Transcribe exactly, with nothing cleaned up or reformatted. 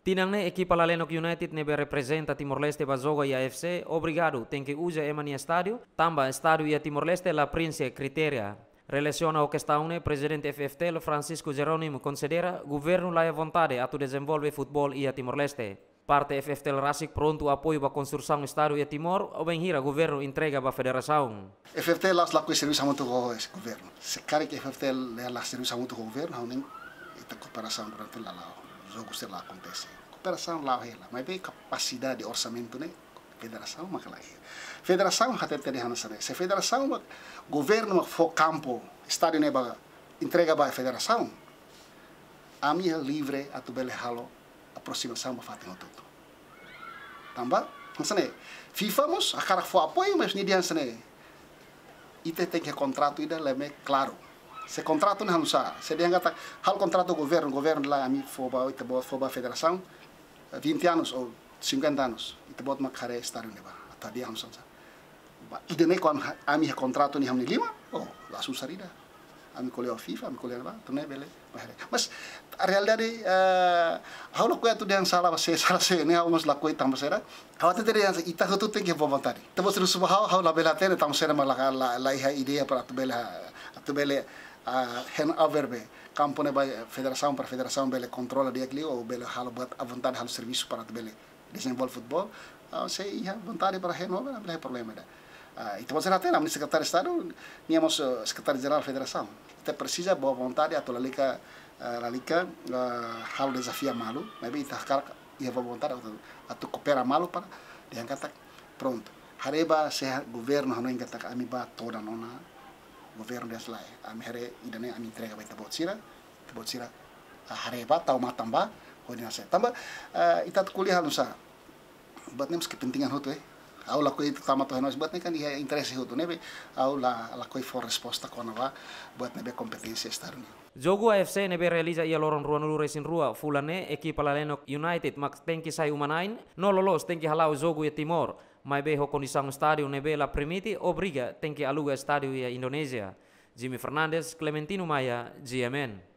Tinan ne'e ekipa Lalenok United ne'ebé reprezenta Timor-Leste ba jogu iha A F C obrigadu tenke uza ema nia estádiu, tanba estádiu iha Timor-Leste la prienxe kritéria. Relasiona ho kestaun ne'e, Prezidente F F T L Francisco Jerónimo konsidera governu la iha vontade atu dezenvolve futeból iha Timor-Leste. Parte F F T L rasik prontu apoiu ba konstrusaun estádiu iha Timor, bainhira governu entrega ba federasaun. F F T L la'ós lakohi servisu hamutuk ho governu. Se karik F F T L la servisu hamutuk ho governu, ha'u hanoin ita kooperasaun durante la la'o, jogu sira la akontese. Kooperasaun la'o hela, maibé kapasidade orsamentu ne'e federasaun mak la iha. Federasaun hatete dehan hanesan ne'e. Se federasaun mak, governu mak fó kampu, estádiu ne'e ba, entrega ba federasaun, ami iha livre atu bele halo aproximasaun ba fatin hotu-hotu. Tanba hanesan ne'e, FIFA mós hakarak fó apoiu, mas nia dehan hanesan ne'e, ita tenke kontratu ida ne'ebé klaru. Se kontratu ne'e halo nusá, se dehan katak halo kontratu governu, governu dehan ami fó ba, ita-boot fó ba federasaun, eh, vinte anos ou cinquenta anos, ita-boot mak haree estádiu ne'ebá, atu hadi'a hanesan sá. Ba, ida-ne'e kuandu ha-, ami iha kontratu ne'e iha ami-nia liman, oh, la susar ida. Ami ko'alia ho FIFA, ami ko'alia ba, entaun ne'e bele, ba haree. Mas realidade, eh, ha'u lakohi atu dehan sala ba sé, sala sé, ne'e ha'u mós lakohi tanba saida. Ha'u hatete dehan ita hotu tenke boa vontade. Ita-boot sira husu ba ha'u, ha'u labele hatene tanba saida mak la, la, la iha ideia para atu bele, atu bele, ah, hand over be kampu ne'e ba federasaun, para federasaun bele kontrola di'ak liu, ou bele halo buat à vontade, halo servisu para atu bele dezenvolve futeból. Ah, se iha vontade para hand over, la iha problema ida. Ah, ita-boot sira hatene, ami-nia Sekretáriu Estadu, nia mós, eh, Sekretáriu Jerál Federasaun. Ita presiza boa vontade atu lalika, eh, lalika, eh, halo dezafia malu, maibé ita hakarak iha boa vontade atu, atu koopera malu para dehan katak, prontu. Haree ba se governu hanoin katak ami bá todan ona, governu dehan lae. Ami haree ida-ne'e ami entrega ba ita-boot sira, ita-boot sira, ah, haree ba, tau matan ba, hodi nase. Tanba, eh, ita atu ko'alia halo nusá. Buat ne'e mós kepentingan hotu, eh. Ha'u lakohi tama to'o henoin, buat ne'e kan iha interese hotu, ne'ebé ha'u la, lakohi fó resposta kona-ba buat ne'ebé kompeténsia Estadu nian. Jogu A F C ne'ebé realiza iha loron ruanulu-resin-rua fulan ne'e, ekipa Lalenok United mak tenke sai uma-na'in, no loloos tenke hala'o jogu iha Timor, maibé ho kondisaun estádiu ne'ebé la permite, obriga tenke aluga estádiu iha Indonézia. Jimmy Fernandes, Clementino Maia, G M N.